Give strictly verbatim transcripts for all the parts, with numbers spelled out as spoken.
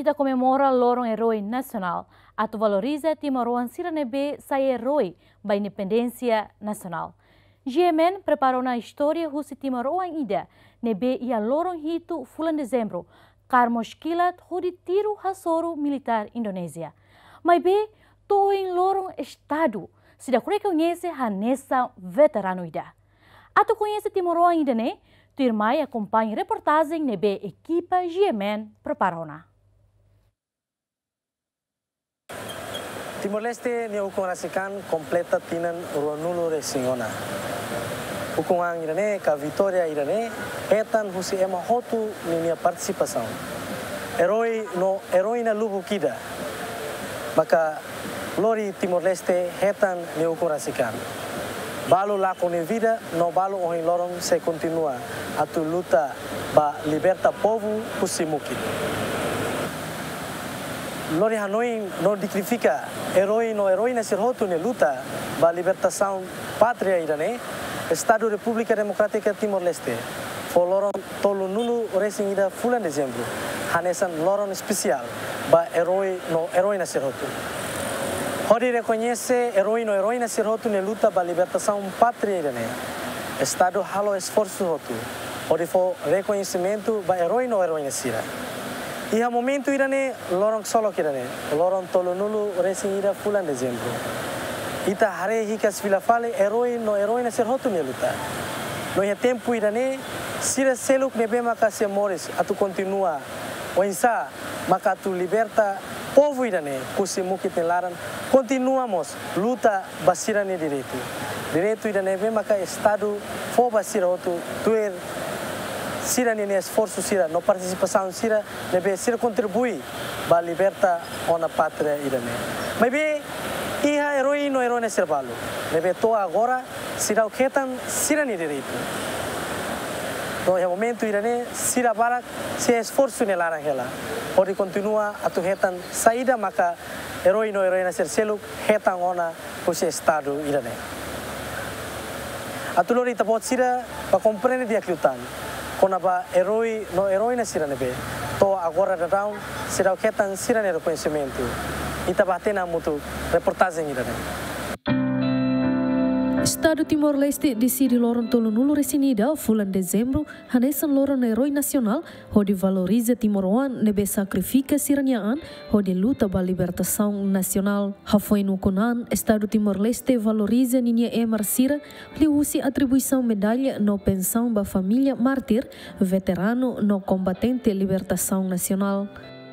Ita komemora loron eroi nasionál, atu valoriza timoroan sira ne'ebé sai eroi ba independénsia nasionál. G M N prepara ona istória husi timoroan ida ne'ebé iha loron hitu fulan Dezembru, kaer mós kilat hodi tiru hasoru militár Indonézia. Maibé, to'o ohin loron Estadu seidauk rekoñese hanesan veteranu ida. Atu koñese timoroan ida-ne'e, tuirmai akompaña reportajen ne'ebé ekipa G M N prepara ona. Timor-Leste nia ukun rasik an kompleta tinan ruanulu-resin-ona. Ukun an ida-ne'e ka vitória ida-ne'e hetan husi ema hotu ninia partisipasaun. Eroi no eroina lubuk ida maka lori Timor-Leste hetan nia ukun rasik an. Balu lakon nia vida no balu ohin loron sei kontinua atu luta ba liberta povu husi mukit. Lori hanoin no dignifika eroi no eroina sira hotu nia luta ba libertasaun pátria ida-ne'e, Estadu Repúblika Demokrátika Timor-Leste fó loron tolunulu-resin-ida fulan Dezembru hanesan loron espesiál ba eroi no eroina sira hotu. Hodi rekoñese eroi no eroina sira hotu nia luta ba libertasaun pátria ida-ne'e, Estadu halo esforsu hotu hodi fó rekoñesimentu ba eroi no eroina sira. Iha momentu ida-ne'e, loron ksolok ida-ne'e, loron tolunulu-resin-ida fulan Dezembru, ita haree hikas fila fali eroi no eroina sira hotu nia luta. No iha tempu ida-ne'e, sira seluk ne'ebé maka sei moris atu kontinua oinsá maka atu liberta povu ida-ne'e husi mukit nia laran, kontinua mós luta ba sira-nia direitu. Direitu ida ne'ebé maka Estadu fó ba sira hotu tuir sira-nia esforsu sira no partisipasaun sira ne'ebé sira kontribui ba liberta ona pátria ida-ne'e. Maibé iha eroi no eroina sira balu ne'ebé to'o agora seidauk hetan sira-nia direitu. No iha momentu ida-ne'e sira barak sei esforsu nia laran hela hodi kontinua atu hetan saida maka eroi no eroina sira seluk hetan ona husi Estadu ida-ne'e. Atu lori ita-boot sira ba komprende di'ak liután kona-ba eroi no eroina sira ne'ebé to'o agora daudaun seidauk hetan sira-nia rekoñesimentu, ita ba hatene hamutuk reportajen ida-ne'e. Estadu Timor-Leste deside loron tolunulu-resin-ida fulan Dezembru hanesan loron eroi nasionál, hodi valoriza timoroan ne'ebé sakrifika sira-nia an hodi luta ba libertasaun nasionál. Hafoin ukun an, Estadu Timor-Leste valoriza ninia emar sira liuhusi atribuisaun medalla no pensaun ba família mártir, veteranu no kombatente libertasaun nasionál.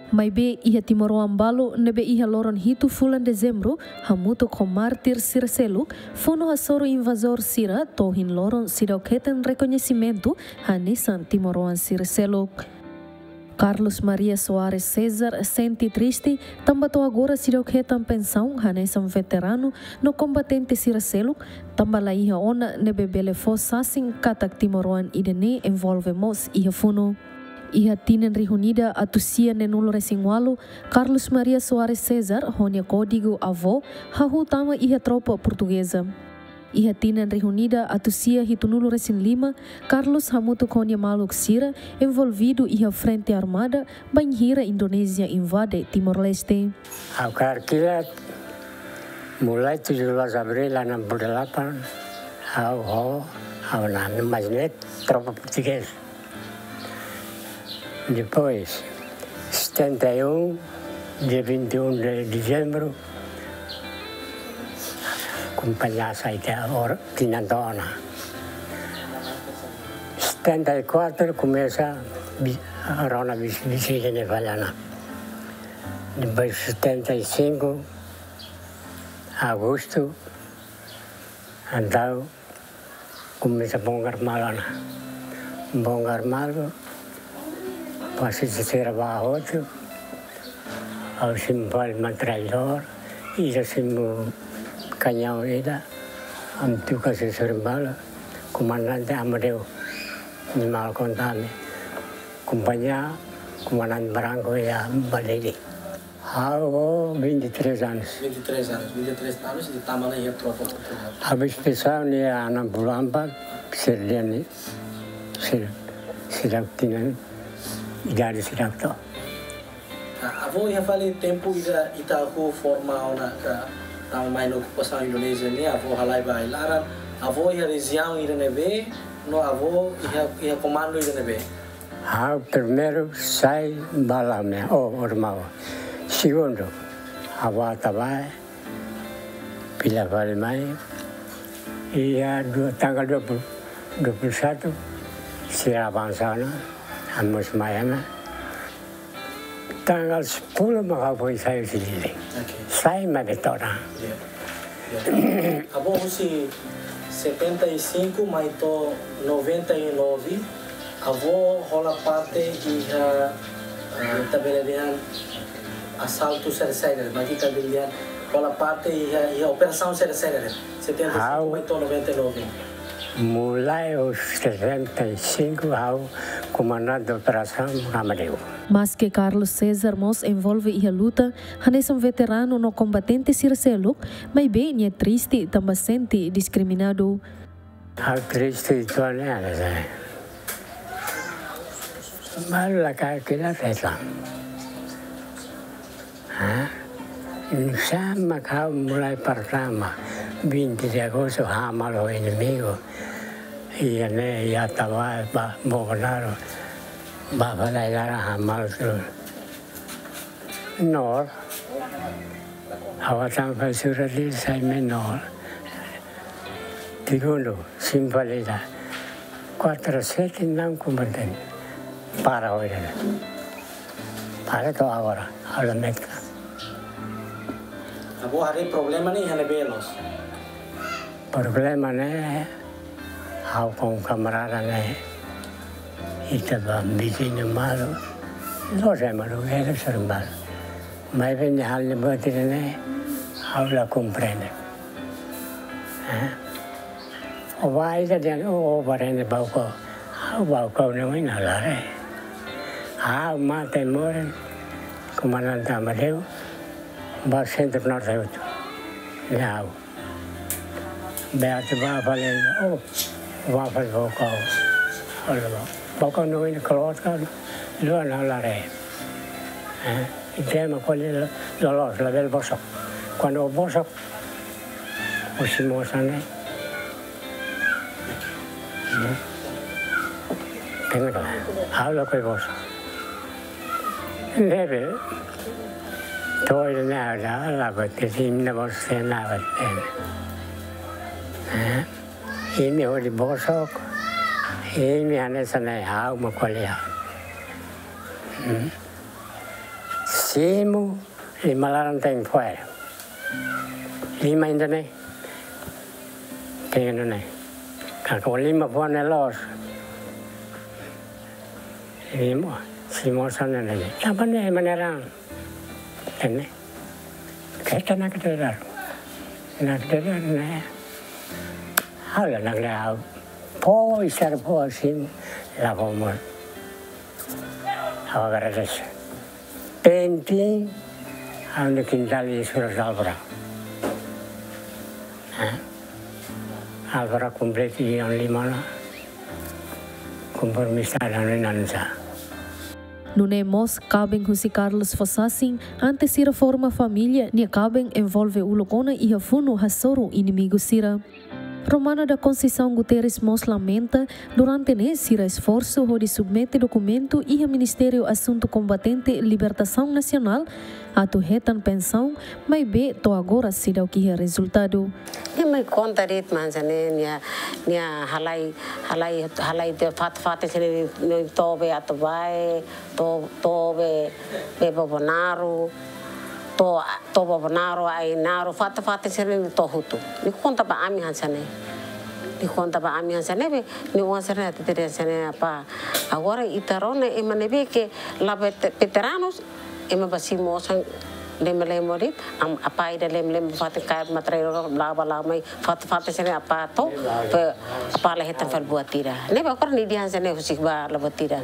Maibé iha timoroan balu ne'ebé iha loron hitu fulan Dezembru, hamutuk ho mártir sira seluk, funu hasoru invazór sira, to'o ohin loron seidauk hetan rekoñesimentu hanesan timoroan sira seluk. Carlos Maria Soares César sente triste tanba to'o agora seidauk hetan pensaun hanesan veteranu no kombatente sira seluk, tanba la iha ona ne'ebé bele fó sasin katak timoroan ida-ne'e envolve mós iha funu. Iha tinan rihun ida atus sia neenulu-resin-ualu, Carlos Maria Soares César ho nia kódigu avó hahú tama iha tropa portugeza. Iha tinan rihun ida atus sia hitunulu-resin-lima, Carlos hamutuk ho nia maluk sira envolvidu iha frente armada bainhira Indonézia invade Timor-Leste. Ha'u kaer kilat, mulai tujuh belas April enam puluh delapan, ha'u ho, ha'u-nia maun ne'e tropa portugés. Depois, setenta e um, dia vinte e um de dezembro, kompañia sai tiha or-, tinan to'o ona. Setenta e quatro, komesa bi-, rona bis-, bisikleta ne'e fali ona. Depois, setenta e cinco, agosto, entaun, komesa bongkar malu ona. Bongkar malu, fase terseira ba hotu, ha'u simu fali metralhadór, ida simu kañaun ida, ami tuka sesur malu, komandante Amadeu, nia maluk konta ami, kompañia, komandante Branco iha Balili. Ha'u ho vinte e três anos. Vinte e três anos. Vinte e três anos, ita tama ona iha tropa portugés. Habis pesau nia enam puluh empat, sira dehan, sira, sira tinan, idade sira to'o. Ah, avó iha fali tempu ida ita hahú forma ona ka tama mai iha okupasaun Indonézia ne'e, avó halai ba ai-laran, avó iha rejiaun ida ne'ebé, no avó iha, iha komandu ida ne'ebé? Ha'u primeiru sai ba Laumea, oh, Orimau. Segundu, avó Atabae, fila fali mai. Iha dua, tanggal dua puluh, dua puluh satu, sira avansa ona, ami mós mai ona. Tanggal sepuluh mak ha'u foin sai husi Dili. Oke. Sai mai Betora. Ya. Ya. Avó husi setenta e cinco mai to'o noventa e nove, avó hola parte iha, ah, ita bele dehan asaltu saida-saida, maibé ita bele dehan hola parte iha, iha operasaun saida-saida, setenta e cinco mai to'o noventa e nove. Mulai husi setenta e cinco ha'u komandante operasaun Amadeu. Maske Carlos César mós envolve iha luta, hanesan veteranu no kombatente sira seluk, maibé nia triste tanba sente diskriminadu. Ha'u triste uitoan ne'e, Alexandre. Malu la ka kila teta. Ha? Nusá mak ha'u mulai pertama, vinte de agosto, hamal ho inimigu. Iha ne'e, iha Atabae, ba, Bobonaro. Ba, ba, la, la, la, hamal terus. Nol. Ha'u tama fali surat Dili sai mai nol. Segundu, simples ida. Kuatru sete não combatente. Para oira. Para to'o agora. Ha'u la metka. Avó haree problema ne'e iha ne'ebé loos? Problema ne'e, ha'u ho kamarada ne'e, ita ba viziñu malu, loos ema malu, ele ser malu. Maibé nia halo buat ida-ne'e, ha'u la komprende. Eh? Ó ba ida dehan, ó, ó ba rende Baucau, ha'u Baucau ne'e ohin ha'u la haree. Ha'u mate morin, komandante Amadeu, ba Centro Norte hotu. Ne'e ha'u. Be atu ba fali, oh, ba fali Baucau. Olha lá. Baucau ne'e ohin keluar kan, luan ha'u la haree. Eh, ita ema ko'alia loloos, labele bosok. Kuandu bosok, husi moos ne'e. Hmm. Kena kala, ha'u lakohi bosok. Ne'ebé, to'o ne'e ada, la bate, sim na bosok, na bate. Eh? Imi hodi bosok, imi hanesan ne'e ha'u mak ko'alia. Hmm. Simu, lima laran tenke fó. Lima ida-ne'e. Tenke ida-ne'e. Karik lima fó ne'e loos. Lima, simu hanesan ne'e. Tanba ne'e ema ne'e raan. Ene. Keta nakdedar. Nakdedar ne'e. Ha'u la nakdedar. Fó, isar fó, simu. La fó mós. Ha'u agradese. Penting, ha'u-nia kintál iha surat Alvará. Eh? Alvará kompletu iha lima ona, kompromisu ida-ne'e nusá. Nune'e mós kaben husi Carlos fó sasin, antes sira forma família, nia kaben envolve uluk ona iha funu hasoru inimigu sira. Romana da Conceição Guterres mós lamenta, durante ne'e sira esforsu hodi submete dokumentu iha Ministériu Asuntu Kombatente Libertasaun Nasionál atu hetan pensaun, maibé to'o agora seidauk iha rezultadu. Nia mai konta de'it hanesan ne'e, nia, nia halai, halai, halai de'it fatin-fatin hanesan ne'e, nia to'o be Atabae, to'o, to'o be, be Bobonaro, to'o, to'o Bobonaro, Ainaro, fatin-fatin sira-ne'e to'o hotu. Nia konta ba ami hanesan ne'e. Nia konta ba ami hanesan ne'e be, nia oan sira-ne'e hatete hanesan ne'e apá. Agora ita rona ema ne'ebé ke la vet-, veteranus, ema ba simu osan lemo-lemo de'it, am, apá ida lemo-lemo fatin kaer matrairo la'o bá la'o mai, fatin-fatin sira-ne'e apá to'o, pe, apá la hetan fali buat ida. Ne'ebé agora nia dehan hanesan ne'e husik ba la buat ida.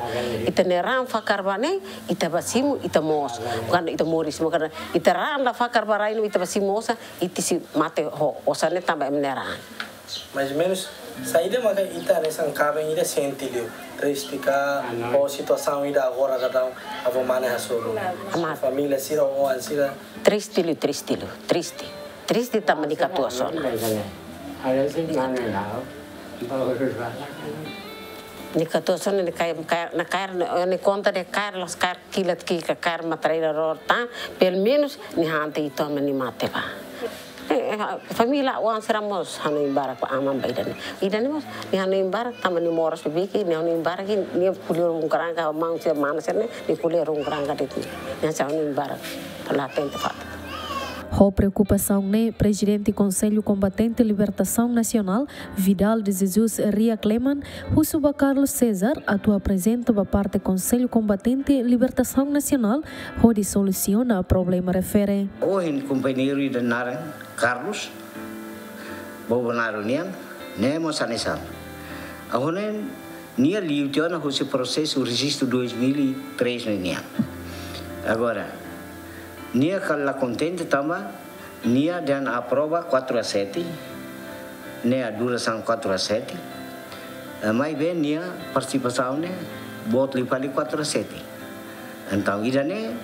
Ita-nia raan fakar ba ne'e, ita ba simu, ita moos. Bukan ita moris, bukan ita raan la fakar ba rai no ita ba simu osan, ita sei mate ho osan ne'e tanba ema nia raan. Mais ou menos, Saida maka ita hanesan kaben ida sente liu? Triste ka? Ah, não. Ou situasaun ida agora daudaun avó mane hasoru? Amat. Família sira, oan sira? Triste liu, triste liu, triste. Triste tanba nia katuas ona. Nia katuas ona, nia kaer, kaer, nia kaer, nia konta dehan kaer, la'ós kaer kilat ki'ik ka kaer matraira ror tan, pelumenus nia han tiha ona nia mate ba. Eh, eh, família oan sira mós hanoin barak ba aman ba ida-ne'e. Ida-ne'e mós nia hanoin barak tanba nia moras ba biik, nia hanoin barak, nia ko'alia rungkran ka maun sira, mana sira ne'e, nia ko'alia rungkran ka de'it. Nia hanoin barak, la atende fatuk. Ho preokupasaun ne'e, Prezidente Konsellu Kombatente Libertasaun Nasionál, Vidal de Jesus Riak Leman, husu ba Carlos César atu aprezenta ba parte Konsellu Kombatente Libertasaun Nasionál hodi solusiona problema refere. Ohin kompañeiru ida naran Carlos, Bobonaro nian, ne'e mós hanesan. Agora nia liu tiha ona husi prosesu rejistu dois mil e três ne'e nian. Agora, nia kala kontente tanba nia dehan aprova quatro a sete, ne'e a durasaun quatro a sete, eh, maibé nia partisipasaun ne'e boot liu fali quatro a sete. Entaun, ida-ne'e,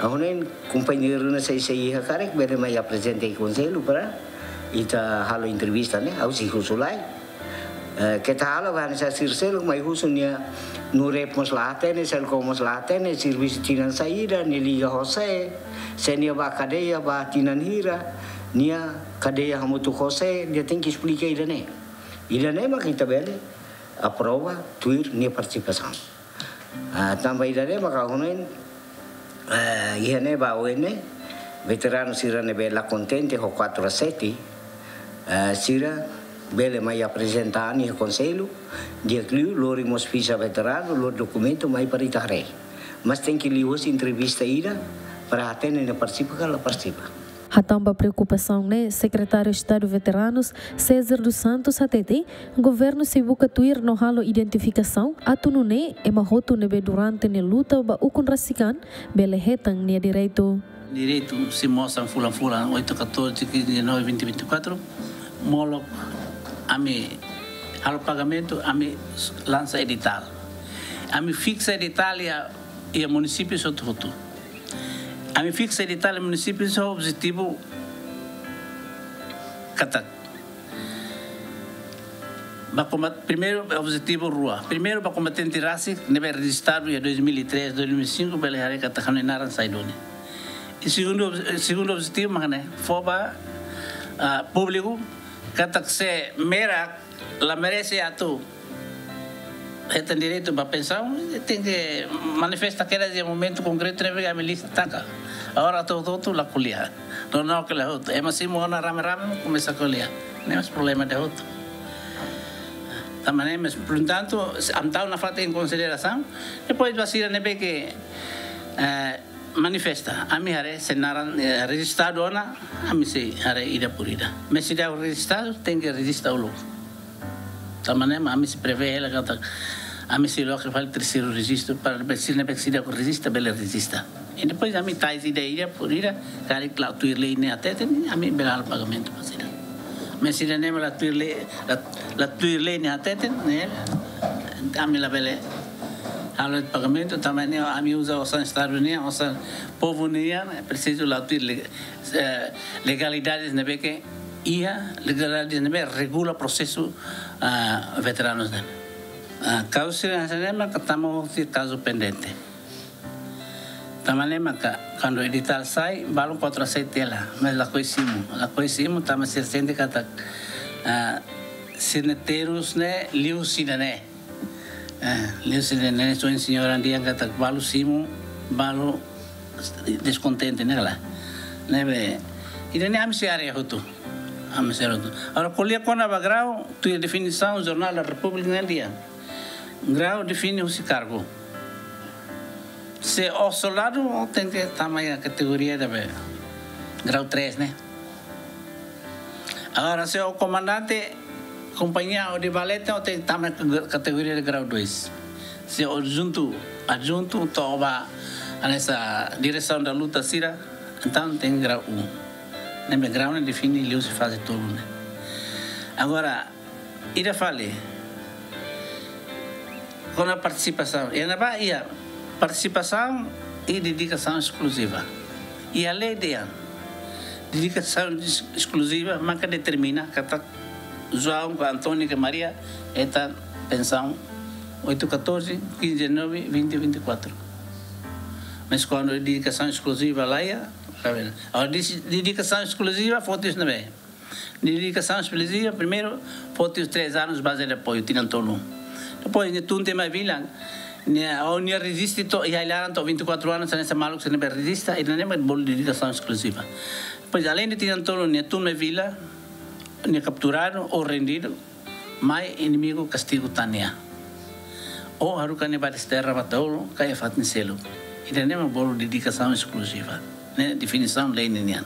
agora kompañeiru ne'e sei, sei iha karik, bele mai aprezenta iha konsellu para ita halo entrevista ne'e, ha'u sei husu lai. Eh, keta halo ba hanesan sira seluk mai husu nia, Nurep mós la hatene, Selcom mós la hatene, servisu tinan saida, nia liga ho sé, se nia ba kadeia ba tinan hira, nia kadeia hamutuk ho sé, nia tenke esplika ida-ne'e. Ida-ne'e mak ita bele aprova tuir nia partisipasaun. Ah, tanba ida-ne'e maka hanoin, eh, iha ne'e ba oin ne'e, veteranu sira ne'ebé la kontente ho quatro a sete, eh, sira bele mai aprezenta iha konsellu, di'ak liu lori mós fixa veteranu, lori dokumentu mai para ita haree. Mas tenke liuhusi entrevista ida para hatene nia partisipa ka la partisipa. Hatán ba preokupasaun ne'e, Sekretáriu Estadu Veteranus, César dos Santos, hatete, governu sei buka tuir no halo identifikasaun, atu nune'e ema hotu ne'ebé durante nia luta ba ukun rasik an, bele hetan nia direitu. Direitu sei mosan fulan-fulan, oito, catorze, quinze, dezanove, vinte, vinte e quatro, molok ami halo pagamentu, ami lansa editál. Ami fiksa editál iha, iha munisípiu hotu-hotu. Ami fiksa editál iha munisípiu ho objetivu katak ba kombat-, primeiru, objetivu rua. Primeiru, ba kombatente rasik ne'ebé rejistadu iha dois mil e três, dois mil e cinco, bele haree katak ha'u-nia naran sai duni. I segundu ob-, segundu objetivu mak ne'e, fó ba, ah, públiku katak se merak la merese atu hetan direitu ba pensaun, tenke manifesta kedas iha momentu konkretu ne'ebé ami lista taka. Agora atu hotu-hotu la ko'alia. Não, não, ko'alia hotu. Ema simu ona rame-rame, komesa ko'alia. Ne'e mós problema ida hotu. Tanba ne'e mós, portantu, ami tau nafatin em consideração. Depois ba sira ne'ebé ke, eh, manifesta. Ami haree se naran, eh, rejistadu ona, ami sei haree ida por ida. Mas se ida rejistadu, tenke rejista uluk. Tanba ne'e mak ami sei prevee hela katak ami sei loke fali terseiru rejistu para sira ne'ebé ke seidauk rejista bele rejista. I depois ami tau ida, ida por ida, karik la tuir lei ne'e hateten, ami bele halo pagamentu ba sira. Mas sira ne'ebé la tuir lei, la, la tuir lei ne'e hateten, ne'e, ami labele halo pagamentu, tanba ne'e ami uza osan Estadu nian, osan povu nian, ne'e presiza la tuir lei, eh, legalidades ne'ebé ke iha, legalidades ne'ebé regula prosesu, ah, veteranus ne'e. Ah, kazu sira hanesan ne'e maka tama hosi kazu pendente. Tanba ne'e maka kuandu editál sai, balu quatro a sete hela, mas lakohi simu, lakohi simu, tanba sira sente katak, ah, sira-nia terus ne'e liu sira-ne'e. Eh, liu sira-ne'e, so señora dehan katak balu simu, balu deskontente ne'e kala. Ne'ebé, ida-ne'e ami sei haree hotu. Ami sei haree hotu. Agora ko'alia kona-ba grau, tuir definisaun Jornál da Repúblika ne'e dehan. Grau define husi kargu. Se ó soldadu, ó tenke tama iha kategoria ida be grau três ne'e. Agora, se ó komandante kompañia ou de valete, ó tenke tama iha kategoria de grau dois. Se ó adjuntu, adjuntu, to'o ba hanesan diresaun da luta sira, entaun tenke grau um. Ne'ebé grau ne'e define liuhusi faze tolu ne'e. Agora, Ida fali, kona-ba partisipasaun, iha ne'ebá iha partisipasaun i dedikasaun eskluziva. Iha lei dehan dedikasaun es-, eskluziva maka determina katak João ka António ka Maria hetan pensaun oito catorze, quinze dezenove, vinte vinte e quatro. Mas kuandu dedikasaun eskluziva laiha, la bele. Agora, desi-, dedikasaun eskluziva foti husi ne'ebé? Dedikasaun eskluziva, primeiru, foti husi três anos base de apoio, tinan tolu. Depois, nia tun tiha mai vila, nia, ó-nia rejista to'o, iha ai-laran to'o vinte e quatro anos, hanesan maluk sira ne'ebé rejista, ida-ne'e mak bolu dedikasaun eskluziva. Depois, além de tinan tolu, nia tun mai vila, nia kapturadu ou rendidu, mai inimigu kastigu tan nia. Ou haruka nia ba desterra ba tolu, ka iha fatin seluk. Ida-ne'e mak bolu dedikasaun eskluziva. Ne'e definisaun lei ninian.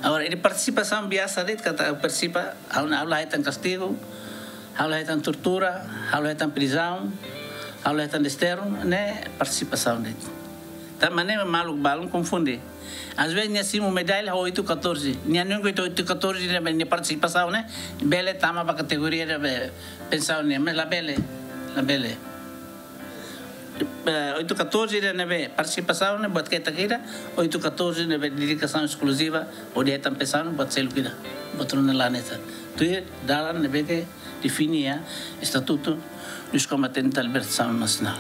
Agora, iha partisipasaun biasa de'it katak partisipa, ha'u, ha'u la hetan kastigu, ha'u la hetan tortura, ha'u la hetan prizaun, ha'u la hetan desterru, ne'e partisipasaun de'it. Tanba ne'e maluk balun konfunde. Às vezes nia simu medalla oito catorze. Nia nunka oito catorze ne'ebé nia partisipasaun ne'e bele tama ba kategoria ne'ebé pensaun ne'e, mas la bele, la bele. Eh, oito catorze ida ne'ebé partisipasaun ne'e buat ketak ida, oito catorze ne'ebé dedikasaun eskluziva, hodi hetan pensaun buat seluk ida. Buat ruma ne'e la hanesan. Tuir dalan ne'ebé ke define iha Estatuto dos Combatentes da Libertação Nacional.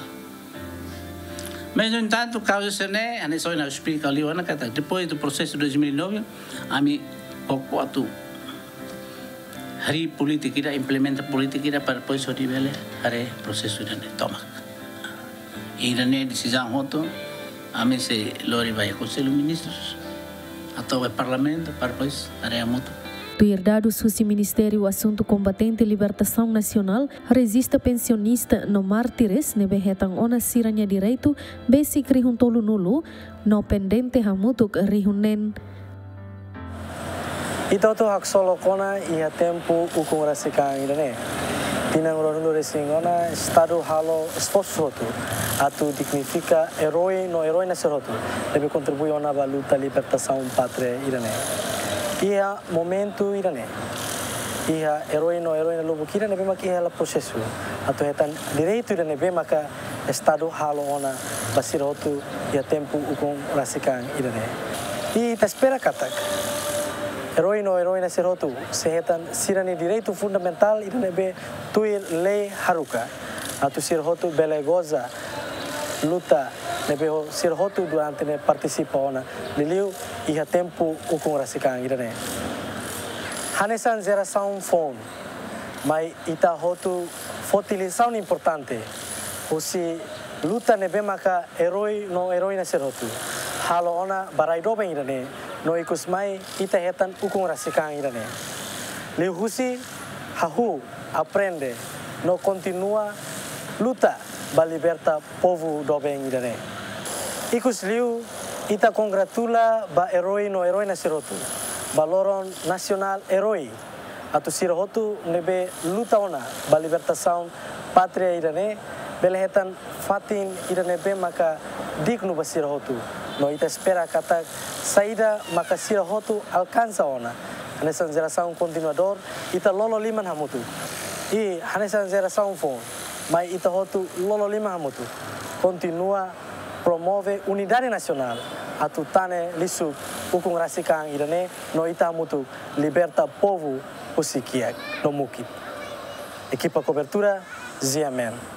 Mas, no entanto, kauza sira-ne'e, hanesan ohin ha'u esplika liu ona katak, depois do processo de dois mil e nove, ami koko atu harii polítika ida, implementa polítika ida para depois hodi bele haree prosesu ida-ne'e tomak. Ida-ne'e desizaun hotu, ami sei lori ba iha Konsellu Ministrus, atu ba Parlamentu, para depois haree hamutuk. Tuir dadus husi Ministériu Asuntu Kombatente Libertasaun Nasionál, rejista pensionista no mártires ne'ebé hetan ona sira-nia direitu besik rihun tolunulu, no pendente hamutuk rihun neen. Ita hotu haksolok ona iha tempu ukun rasik an ida-ne'e. Tinan ruanulu-resin ona, Estadu halo esforsu hotu atu dignifika eroi no eroina sira hotu ne'ebé kontribui ona ba luta libertasaun pátria ida-ne'e. Iha momentu ida-ne'e, iha eroi no eroina lubuk ida ne'ebé maka iha hela prosesu atu hetan direitu ida ne'ebé maka Estadu halo ona ba sira hotu iha tempu ukun rasik an ida-ne'e. I ita espera katak eroi no eroina sira hotu sei hetan sira-nia direitu fundamentál ida ne'ebé tuir lei haruka, atu sira hotu bele goza luta ne'ebé ho-, sira hotu durante ne'e partisipa ona, liuliu iha tempu ukun rasik an ida-ne'e. Hanesan jerasaun foun, mai ita hotu foti lisaun importante husi luta ne'ebé maka eroi no eroina sira hotu halo ona ba rai doben ida-ne'e, no ikus mai ita hetan ukun rasik an ida-ne'e. Liuhusi hahú, aprende, no kontinua luta ba liberta povu doben ida-ne'e. Ikusliu, ita kongratula ba eroi no eroina sira hotu ba loron nasionál eroi, atu sira hotu ne'ebé luta ona ba libertasaun pátria ida-ne'e bele hetan fatin ida ne'ebé maka dignu ba sira hotu. No ita espera katak saida maka sira hotu alkansa ona hanesan jerasaun kontinuadór, ita lolo liman hamutuk. I hanesan jerasaun foun, mai ita hotu lolo liman hamutuk, kontinua promove unidade nasionál atu tane lixu ukun rasik an ida-ne'e, no ita hamutuk liberta povu husi kiak no mukit. Ekipa kobertura, G M N.